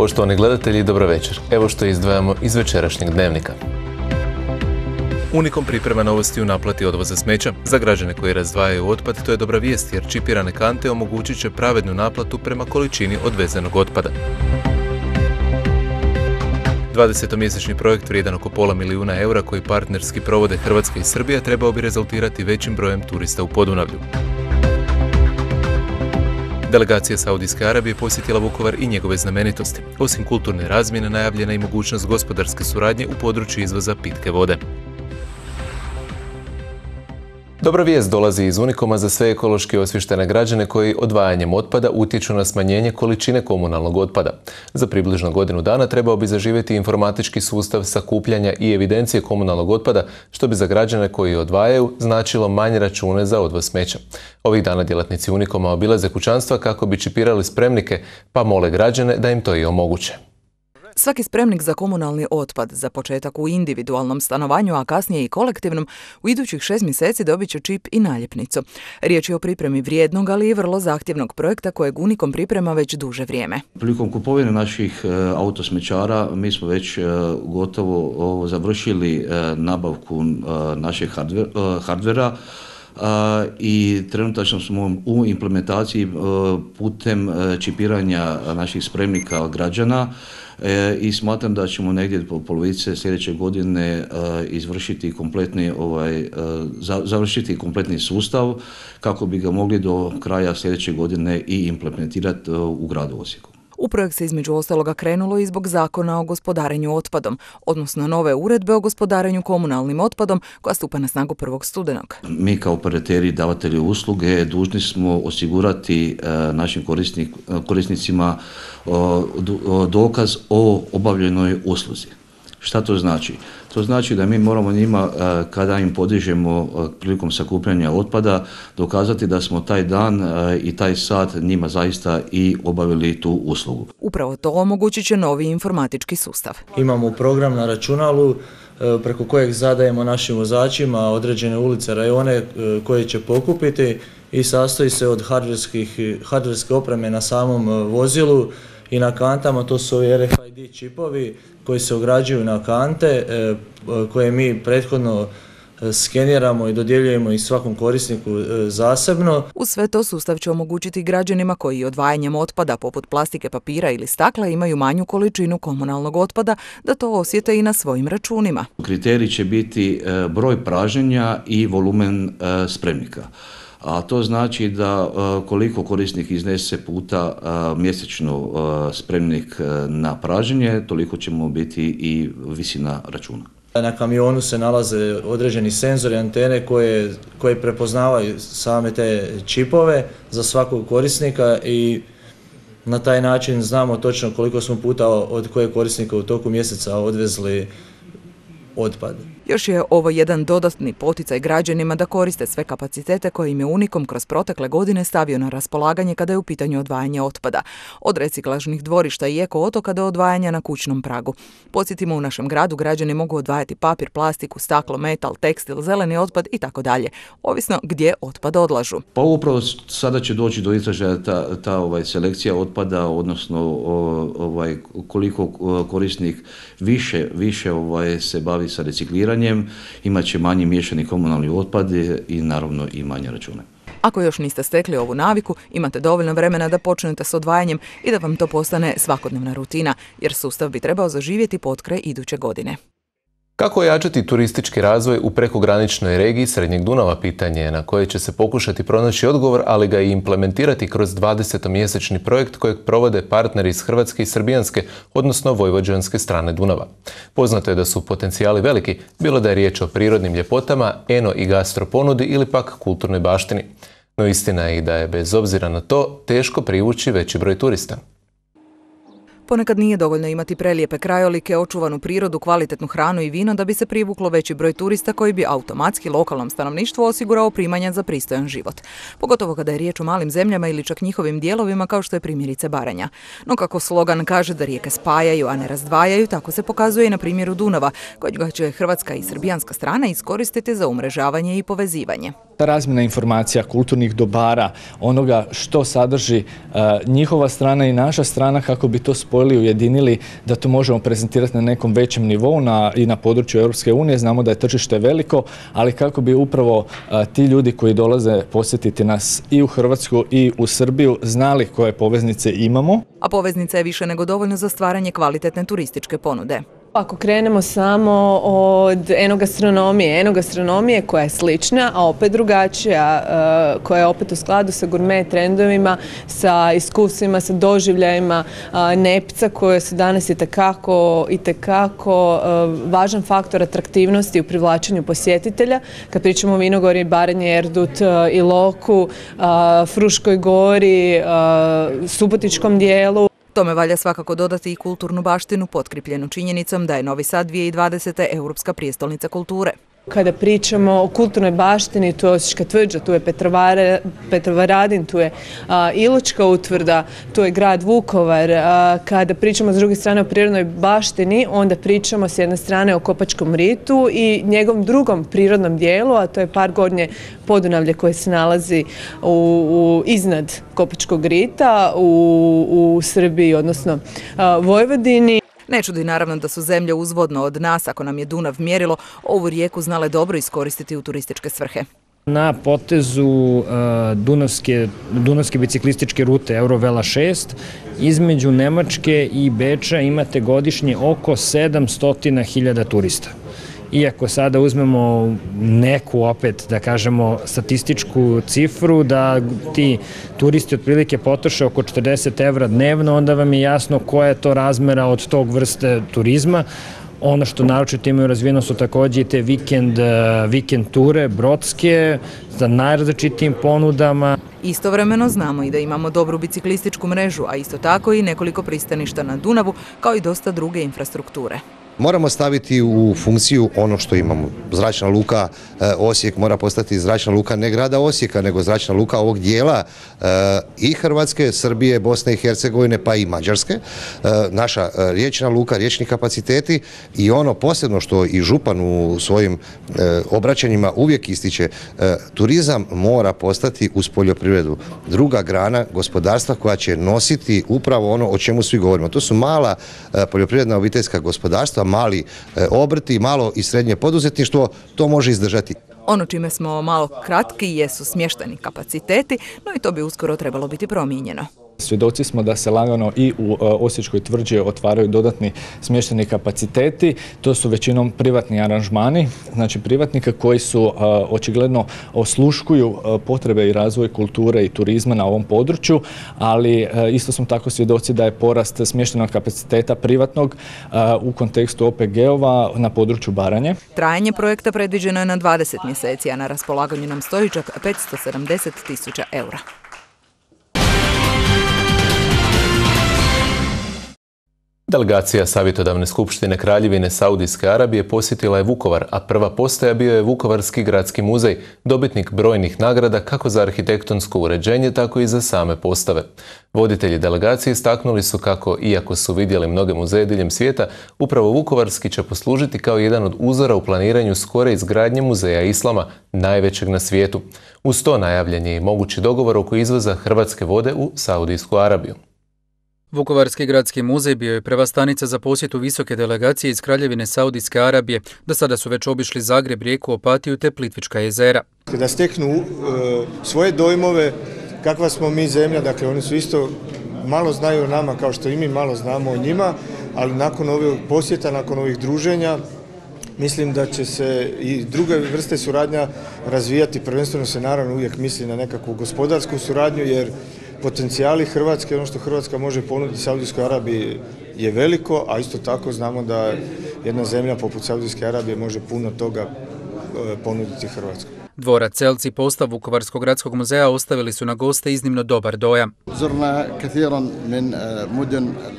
Poštovani gledatelji, dobro večer. Evo što izdvajamo iz večerašnjeg dnevnika. Unikom priprema novosti u naplati odvoza smeća. Za građane koji razdvajaju otpad to je dobra vijest jer čipirane kante omogućit će pravednu naplatu prema količini odvezenog otpada. 20-mjesečni projekt vrijedan oko pola milijuna eura koji partnerski provode Hrvatska i Srbija trebao bi rezultirati većim brojem turista u Podunavlju. Delegacija Saudijske Arabije posjetila Vukovar i njegove znamenitosti. Osim kulturne razmjene najavljena i mogućnost gospodarske suradnje u području izvoza pitke vode. Dobra vijest dolazi iz Unikoma za sve ekološki osviještene građane koji odvajanjem otpada utječu na smanjenje količine komunalnog otpada. Za približno godinu dana trebao bi zaživjeti informatički sustav sakupljanja i evidencije komunalnog otpada, što bi za građane koji odvajaju značilo manje račune za odvoz smeća. Ovih dana djelatnici Unikoma obilaze kućanstva kako bi čipirali spremnike, pa mole građane da im to i omoguće. Svaki spremnik za komunalni otpad, za početak u individualnom stanovanju, a kasnije i kolektivnom, u idućih 6 mjeseci dobit će čip i naljepnicu. Riječ je o pripremi vrijednog, ali i vrlo zahtjevnog projekta kojeg Unikom priprema već duže vrijeme. Prilikom kupovine naših autosmećara mi smo već gotovo završili nabavku našeg hardvera, i trenutačno smo u implementaciji putem čipiranja naših spremnika građana i smatram da ćemo negdje po polovice sljedeće godine izvršiti kompletni, završiti kompletni sustav kako bi ga mogli do kraja sljedeće godine i implementirati u gradu Osijeku. U projekt se između ostaloga krenulo i zbog zakona o gospodarenju otpadom, odnosno nove uredbe o gospodarenju komunalnim otpadom koja stupa na snagu 1. studenog. Mi kao operateri i davatelji usluge dužni smo osigurati našim korisnicima dokaz o obavljenoj usluzi. Šta to znači? To znači da mi moramo njima, kada im podižemo prilikom sakupljanja otpada, dokazati da smo taj dan i taj sat njima zaista i obavili tu uslugu. Upravo to omogućit će novi informatički sustav. Imamo program na računalu preko kojeg zadajemo našim vozačima određene ulice, rajone koje će pokupiti i sastoji se od hardverske opreme na samom vozilu i na kantama. To su RFID čipovi koji se ugrađuju na kante, koje mi prethodno skeniramo i dodjeljujemo i svakom korisniku zasebno. Uz sve to sustav će omogućiti građanima koji odvajanjem otpada poput plastike, papira ili stakla imaju manju količinu komunalnog otpada da to osjete i na svojim računima. Kriterij će biti broj praženja i volumen spremnika. A to znači da koliko korisnik iznese puta mjesečno spremnik na praženje, toliko ćemo biti i visina računa. Na kamionu se nalaze određeni senzori, antene koje prepoznavaju same te čipove za svakog korisnika i na taj način znamo točno koliko smo puta od kojeg korisnika u toku mjeseca odvezli otpad. Još je ovo jedan dodatni poticaj građanima da koriste sve kapacitete koje im je Unikom kroz protekle godine stavio na raspolaganje kada je u pitanju odvajanje otpada. Od reciklažnih dvorišta i eko otoka do odvajanja na kućnom pragu. Podsjetimo, u našem gradu građani mogu odvajati papir, plastiku, staklo, metal, tekstil, zeleni otpad i tako dalje, ovisno gdje otpad odlažu. Pa upravo sada će doći do izražaja ta selekcija otpada, odnosno koliko korisnik više se bavi sa recikliranjem, imat će manji miješani komunalni otpad i naravno i manje račune. Ako još niste stekli ovu naviku, imate dovoljno vremena da počnete s odvajanjem i da vam to postane svakodnevna rutina, jer sustav bi trebao zaživjeti potkraj iduće godine. Kako ojačati turistički razvoj u prekograničnoj regiji Srednjeg Dunava, pitanje je na koje će se pokušati pronaći odgovor, ali ga i implementirati kroz 20-mjesečni projekt kojeg provode partneri iz Hrvatske i Srbijanske, odnosno vojvođanske strane Dunava. Poznato je da su potencijali veliki, bilo da je riječ o prirodnim ljepotama, eno i gastro ponudi ili pak kulturnoj baštini. No istina je i da je bez obzira na to teško privući veći broj turista. Ponekad nije dovoljno imati prelijepe krajolike, očuvanu prirodu, kvalitetnu hranu i vino da bi se privuklo veći broj turista koji bi automatski lokalnom stanovništvu osigurao primanja za pristojan život. Pogotovo kada je riječ o malim zemljama ili čak njihovim dijelovima kao što je primjerice Baranja. No kako slogan kaže da rijeke spajaju, a ne razdvajaju, tako se pokazuje i na primjeru Dunava, kojega će hrvatska i srbijanska strana iskoristiti za umrežavanje i povezivanje. Ta razmjena informacija, kulturnih dobara, onoga što sadrži njihova strana i naša strana, kako bi to spojili, ujedinili, da to možemo prezentirati na nekom većem nivou i na području Europske unije. Znamo da je tržište veliko, ali kako bi upravo ti ljudi koji dolaze posjetiti nas i u Hrvatsku i u Srbiju znali koje poveznice imamo. A poveznica je više nego dovoljno za stvaranje kvalitetne turističke ponude. Ako krenemo samo od enogastronomije koja je slična, a opet drugačija, koja je opet u skladu sa gurme trendovima, sa iskustvima, sa doživljajima Nepca, koje su danas itekako važan faktor atraktivnosti u privlačenju posjetitelja. Kad pričamo o Vinogori, Baranje, Erdut, Iloku, Fruškoj gori, Subotičkom dijelu. Tome valja svakako dodati i kulturnu baštinu potkripljenu činjenicom da je Novi Sad 2020. Europska prijestolnica kulture. Kada pričamo o kulturnoj baštini, tu je Osječka tvrđa, tu je Petrovaradin, tu je Iločka utvrda, tu je grad Vukovar. Kada pričamo s druge strane o prirodnoj baštini, onda pričamo s jedne strane o Kopačkom ritu i njegovom drugom prirodnom dijelu, a to je Park Gornje Podunavlje koje se nalazi iznad Kopačkog rita u Srbiji, odnosno Vojvodini. Ne čudi naravno da su zemlje uzvodno od nas, ako nam je Dunav mjerilo, ovu rijeku znale dobro iskoristiti u turističke svrhe. Na potezu Dunavske biciklističke rute Eurovela 6 između Nemačke i Beča imate godišnje oko 700.000 turista. Iako sada uzmemo neku, opet da kažemo, statističku cifru, da ti turisti otprilike potroše oko 40 evra dnevno, onda vam je jasno koja je to razmera od tog vrste turizma. Ono što naročito imaju razvijeno su takođe i te vikend ture, brodske, sa najrazličitijim ponudama. Istovremeno znamo i da imamo dobru biciklističku mrežu, a isto tako i nekoliko pristaništa na Dunavu, kao i dosta druge infrastrukture. Moramo staviti u funkciju ono što imamo. Zračna luka Osijek mora postati zračna luka ne grada Osijeka, nego zračna luka ovog dijela i Hrvatske, Srbije, Bosne i Hercegovine, pa i Mađarske. Naša riječna luka, riječni kapaciteti i ono posebno što i župan u svojim obraćanjima uvijek ističe, turizam mora postati uz poljoprivredu druga grana gospodarstva koja će nositi upravo ono o čemu svi govorimo. To su mala poljoprivredna obiteljska gospodarstva, mali obrti, malo i srednje poduzetništvo, to može izdržati. Ono čime smo malo kratki jesu smješteni kapaciteti, no i to bi uskoro trebalo biti promijenjeno. Svjedoci smo da se lagano i u Osječkoj tvrđi otvaraju dodatni smješteni kapaciteti. To su većinom privatni aranžmani, znači privatnika koji su očigledno osluškuju potrebe i razvoj kulture i turizma na ovom području, ali isto smo tako svjedoci da je porast smještenog kapaciteta privatnog u kontekstu OPG-ova na području Baranje. Trajanje projekta predviđeno je na 20 mjeseci, a na raspolaganju nam stoji čak 570.000 eura. Delegacija Savjetodavne skupštine Kraljevine Saudijske Arabije posjetila je Vukovar, a prva postaja bio je Vukovarski gradski muzej, dobitnik brojnih nagrada kako za arhitektonsko uređenje, tako i za same postave. Voditelji delegacije istaknuli su kako, iako su vidjeli mnoge muzeje diljem svijeta, upravo Vukovarski će poslužiti kao jedan od uzora u planiranju skore izgradnje muzeja islama, najvećeg na svijetu. Uz to najavljen je i mogući dogovor oko izvoza hrvatske vode u Saudijsku Arabiju. Vukovarski gradski muzej bio je prva stanica za posjetu visoke delegacije iz Kraljevine Saudijske Arabije. Do sada su već obišli Zagreb, Rijeku, Opatiju te Plitvička jezera. Da steknu svoje dojmove, kakva smo mi zemlja, dakle oni su isto malo znaju o nama kao što i mi malo znamo o njima, ali nakon ovih posjeta, nakon ovih druženja, mislim da će se i druge vrste suradnja razvijati, prvenstveno se naravno uvijek misli na nekakvu gospodarsku suradnju, jer potencijali Hrvatske, ono što Hrvatska može ponuditi Saudijskoj Arabiji je veliko, a isto tako znamo da jedna zemlja poput Saudijske Arabije može puno toga ponuditi Hrvatskoj. Dvorac Selci i postav Vukovarskog gradskog muzeja ostavili su na goste iznimno dobar dojam.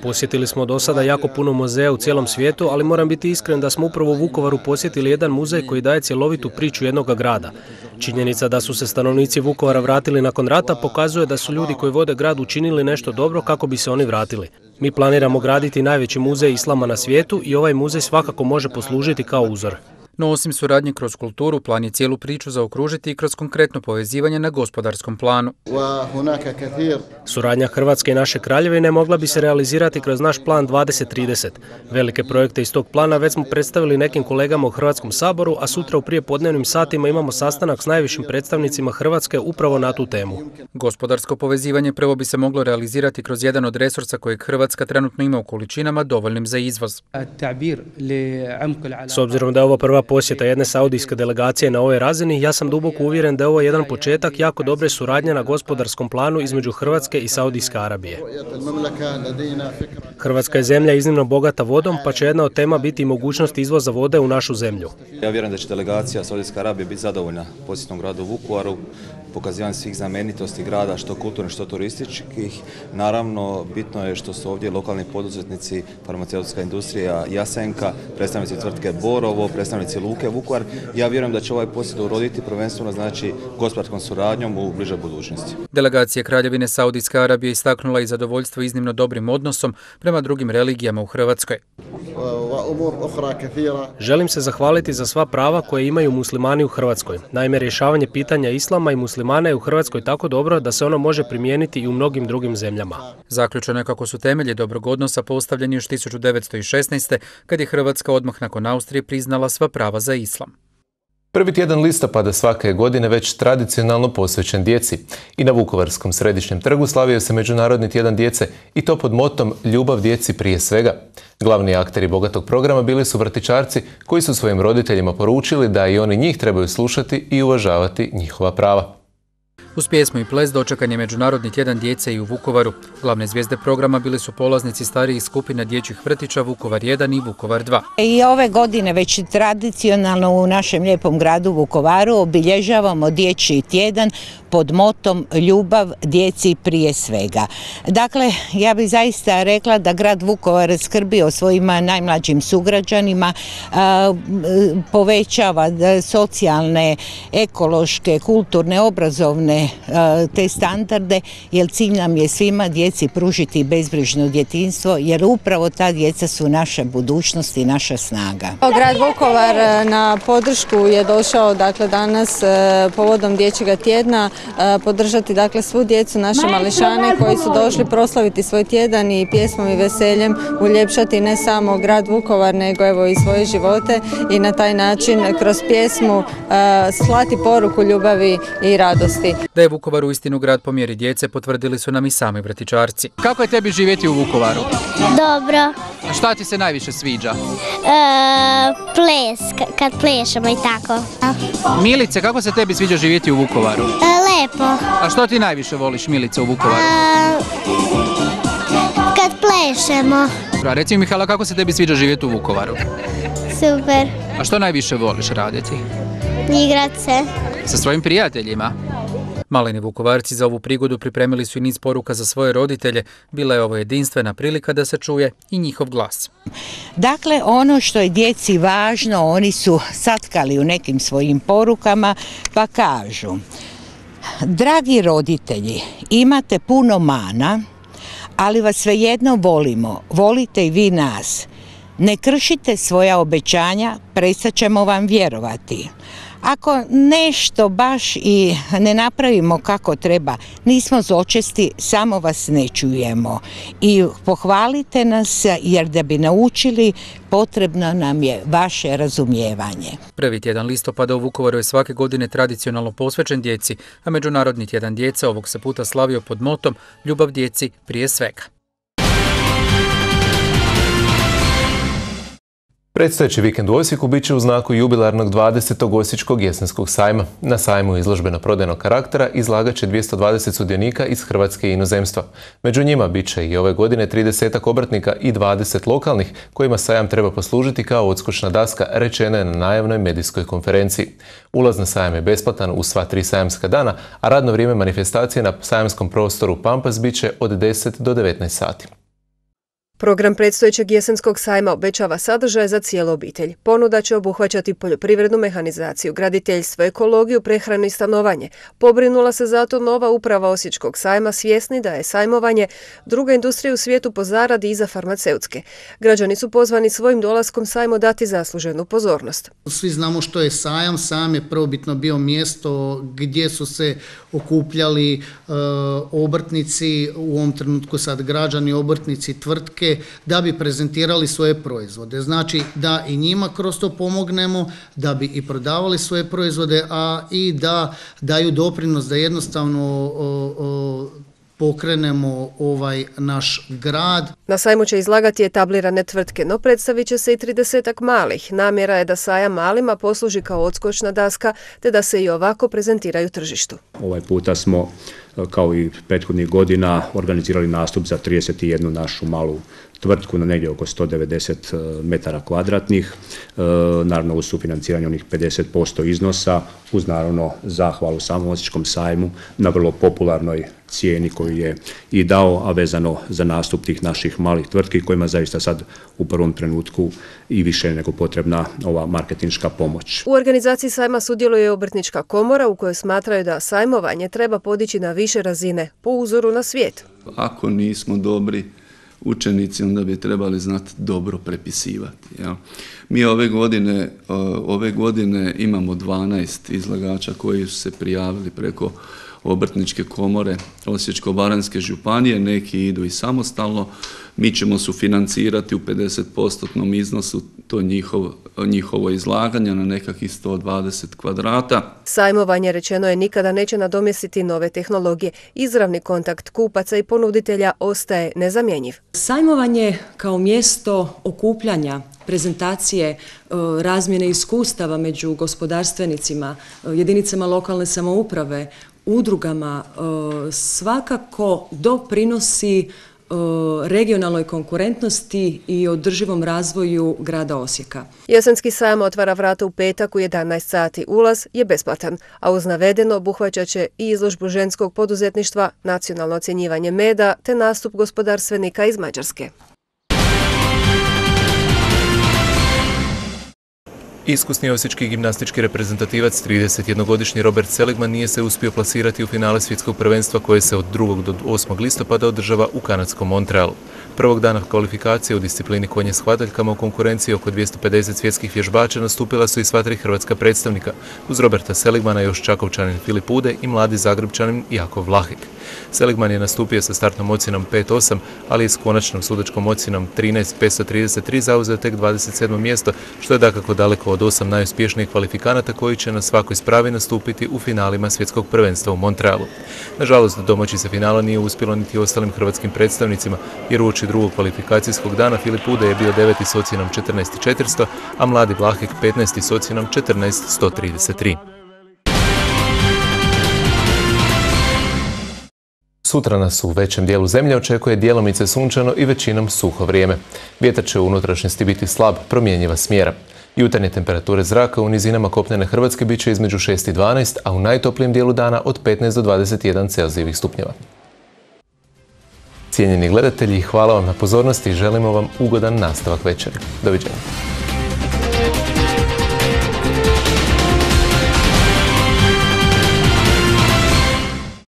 Posjetili smo do sada jako puno muzeja u cijelom svijetu, ali moram biti iskren da smo upravo u Vukovaru posjetili jedan muzej koji daje cjelovitu priču jednog grada. Činjenica da su se stanovnici Vukovara vratili nakon rata pokazuje da su ljudi koji vode grad učinili nešto dobro kako bi se oni vratili. Mi planiramo graditi najveći muzej islama na svijetu i ovaj muzej svakako može poslužiti kao uzor. No osim suradnje kroz kulturu, plan je cijelu priču zaokružiti i kroz konkretno povezivanje na gospodarskom planu. Suradnja Hrvatske i naše kraljevine mogla bi se realizirati kroz naš plan 2030. Velike projekte iz tog plana već smo predstavili nekim kolegama u Hrvatskom saboru, a sutra u prijepodnevnim satima imamo sastanak s najvišim predstavnicima Hrvatske upravo na tu temu. Gospodarsko povezivanje prvo bi se moglo realizirati kroz jedan od resursa kojeg Hrvatska trenutno ima u količinama dovoljnim za izvoz. S obzirom da je ovo prva posjeta jedne saudijske delegacije na ovoj razini, ja sam duboko uvjeren da je ovo jedan početak jako dobre suradnje na gospodarskom planu između Hrvatske i Saudijske Arabije. Hrvatska je zemlja iznimno bogata vodom, pa će jedna od tema biti i mogućnost izvoza vode u našu zemlju. Ja vjerujem da će delegacija Saudijske Arabije biti zadovoljna posjetom gradu Vukovaru, pokazivanje svih znamenitosti grada, što kulturnih, što turističkih. Naravno, bitno je što su ovdje lokalni poduzetnici, farmaceutska industrija Jasenka, predstavnici tvrtke Borovo, predstavnici Luke Vukovar. Ja vjerujem da će ovaj posjet uroditi prvenstveno znači gospodarskom suradnjom u bližoj budućnosti. Delegacija Kraljevine Saudijske Arabije istaknula i zadovoljstvo iznimno dobrim odnosom prema drugim religijama u Hrvatskoj. Želim se zahvaliti za sva prava koje imaju muslimani u Hrvatskoj. Naime, rješavanje pitanja islama i muslimana je u Hrvatskoj tako dobro da se ono može primijeniti i u mnogim drugim zemljama. Zaključeno je kako su temelji dobrog odnosa postavljeni još 1916. kad je Hrvatska odmah nakon Austrije priznala sva prava za islam. Prvi tjedan listopada svake godine već tradicionalno posvećen djeci. I na Vukovarskom središnjem trgu slavio se Međunarodni tjedan djece i to pod motom Ljubav djeci prije svega. Glavni akteri bogatog programa bili su vrtićarci koji su svojim roditeljima poručili da i oni njih trebaju slušati i uvažavati njihova prava. Uz pjesmu i ples dočekan je Međunarodni tjedan djece i u Vukovaru. Glavne zvijezde programa bili su polaznici starijih skupina dječjih vrtića Vukovar 1 i Vukovar 2. I ove godine već tradicionalno u našem lijepom gradu Vukovaru obilježavamo dječji tjedan pod motom Ljubav djeci prije svega. Dakle, ja bih zaista rekla da grad Vukovar skrbi o svojim najmlađim sugrađanima, povećava socijalne, ekološke, kulturne, obrazovne te standarde, jer cilj nam je svima djeci pružiti bezbrižno djetinjstvo, jer upravo ta djeca su naša budućnost i naša snaga. Grad Vukovar na podršku je došao danas povodom dječjega tjedna podržati svu djecu, naše mališane koji su došli proslaviti svoj tjedan i pjesmom i veseljem uljepšati ne samo grad Vukovar nego i svoje živote i na taj način kroz pjesmu slati poruku ljubavi i radosti. Da je Vukovar uistinu grad po mjeri djece potvrdili su nam i sami vrtićarci. Kako je tebi živjeti u Vukovaru? Dobro. A šta ti se najviše sviđa? Ples, kad plešemo i tako. Milice, kako se tebi sviđa živjeti u Vukovaru? Lepo. A što ti najviše voliš, Milice, u Vukovaru? Kad plešemo. Reci mi, Mihala, kako se tebi sviđa živjeti u Vukovaru? Super. A što najviše voliš raditi? Igrat se. Sa svojim prijateljima? Maleni Vukovarci za ovu prigodu pripremili su i niz poruka za svoje roditelje. Bila je ovo jedinstvena prilika da se čuje i njihov glas. Dakle, ono što je djeci važno, oni su satkali u nekim svojim porukama, pa kažu: dragi roditelji, imate puno mana, ali vas svejedno volimo, volite i vi nas. Ne kršite svoja obećanja, prestat ćemo vam vjerovati. Ako nešto baš i ne napravimo kako treba, nismo zločesti, samo vas ne čujemo. I pohvalite nas, jer da bi naučili, potrebno nam je vaše razumijevanje. Prvi tjedan listopada u Vukovaru je svake godine tradicionalno posvećen djeci, a Međunarodni tjedan djece ovog se puta slavio pod motom Ljubav djeci prije svega. Predstojeći vikend u Osijeku bit će u znaku jubilarnog 20. Osječkog jesenskog sajma. Na sajmu izložbeno-prodajnog karaktera izlagat će 220 sudionika iz Hrvatske i inozemstva. Među njima bit će i ove godine 30 obrtnika i 20 lokalnih, kojima sajam treba poslužiti kao odskočna daska, rečena je na najavnoj medijskoj konferenciji. Ulaz na sajam je besplatan u sva 3 sajamska dana, a radno vrijeme manifestacije na sajamskom prostoru Pampas bit će od 10 do 19 sati. Program predstojećeg jesenskog sajma obećava sadržaje za cijelu obitelj. Ponuda će obuhvaćati poljoprivrednu mehanizaciju, graditeljstvo, ekologiju, prehranu i stanovanje. Pobrinula se zato nova uprava Osječkog sajma, svjesni da je sajmovanje druga industrija u svijetu po zaradi iza farmaceutske. Građani su pozvani svojim dolaskom sajmu dati zasluženu pozornost. Svi znamo što je sajam. Sajam je prvobitno bio mjesto gdje su se okupljali obrtnici, u ovom trenutku sad građani, obrtnici, tvrtke, da bi prezentirali svoje proizvode. Znači da i njima kroz to pomognemo, da bi i prodavali svoje proizvode, a i da daju doprinos da jednostavno pokrenemo ovaj naš grad. Na sajmu će izlagati etablirane tvrtke, no predstavit će se i 30-ak malih. Namjera je da sajam malima posluži kao odskočna daska, te da se i ovako prezentiraju tržištu. Ovaj puta smo, kao i prethodnih godina, organizirali nastup za 31 našu malu tvrtku na negdje oko 190 metara kvadratnih, naravno uz sufinanciranje onih 50% iznosa, uz naravno zahvalu samom Osječkom sajmu na vrlo popularnoj cijeni koju je i dao, a vezano za nastup tih naših malih tvrtki kojima zaista sad u prvom trenutku i više nego potrebna ova marketinška pomoć. U organizaciji sajma sudjeluje Obrtnička komora u kojoj smatraju da sajmovanje treba podići na više razine po uzoru na svijet. Ako nismo dobri učenici, onda bi trebali znati dobro prepisivati. Ja. Mi ove godine imamo 12 izlagača koji su se prijavili preko Obrtničke komore Osječko-baranjske županije, neki idu i samostalno. Mi ćemo sufinancirati u 50% iznosu to njihovo izlaganje na nekakvih 120 kvadrata. Sajmovanje, rečeno je, nikada neće nadomjestiti nove tehnologije. Izravni kontakt kupaca i ponuditelja ostaje nezamjenjiv. Sajmovanje kao mjesto okupljanja, prezentacije, razmjene iskustava među gospodarstvenicima, jedinicama lokalne samouprave, udrugama, svakako doprinosi regionalnoj konkurentnosti i održivom razvoju grada Osijeka. Jesenski sajam otvara vrata u petak u 11 sati. Ulaz je besplatan, a uz navedeno obuhvaćat će i izložbu ženskog poduzetništva, nacionalno ocjenjivanje meda te nastup gospodarstvenika iz Mađarske. Iskusni osječki gimnastički reprezentativac, 31-godišnji Robert Seligman, nije se uspio plasirati u finale svjetskog prvenstva koje se od 2. do 8. listopada održava u kanadskom Montrealu. Prvog dana kvalifikacije u disciplini konje s hvataljkama u konkurenciji oko 250 svjetskih vježbača nastupila su i sva 3 hrvatska predstavnika. Uz Roberta Seligmana još Čakovčanin Filip Ude i mladi Zagrebčanin Jakov Vlahek. Seligman je nastupio sa startnom ocjenom 5-8, ali i s konačnom sudačkom ocjenom 13-533 zauzeo tek 27. mjesto, što je dakako daleko od 8 najuspješnijih kvalifikanata koji će na svakoj spravi nastupiti u finalima svjetskog prvenstva u Montrealu. Nažalost, domaći se finala nije uspjelo niti ostalim hrvatskim predstavnicima, jer uoči drugog kvalifikacijskog dana Filip Ude je bio 9. s ocjenom 14.400, a mladi Vlahek 15. s ocjenom 14.133. Sutra nas u većem dijelu zemlje očekuje djelomice sunčano i većinom suho vrijeme. Vjetar će u unutrašnjosti biti slab, promjenjiva smjera. Jutarnje temperature zraka u nizinama kopnene Hrvatske bit će između 6 i 12, a u najtoplijem dijelu dana od 15 do 21 Celzijevih stupnjeva. Cijenjeni gledatelji, hvala vam na pozornosti i želimo vam ugodan nastavak večeri. Doviđenja.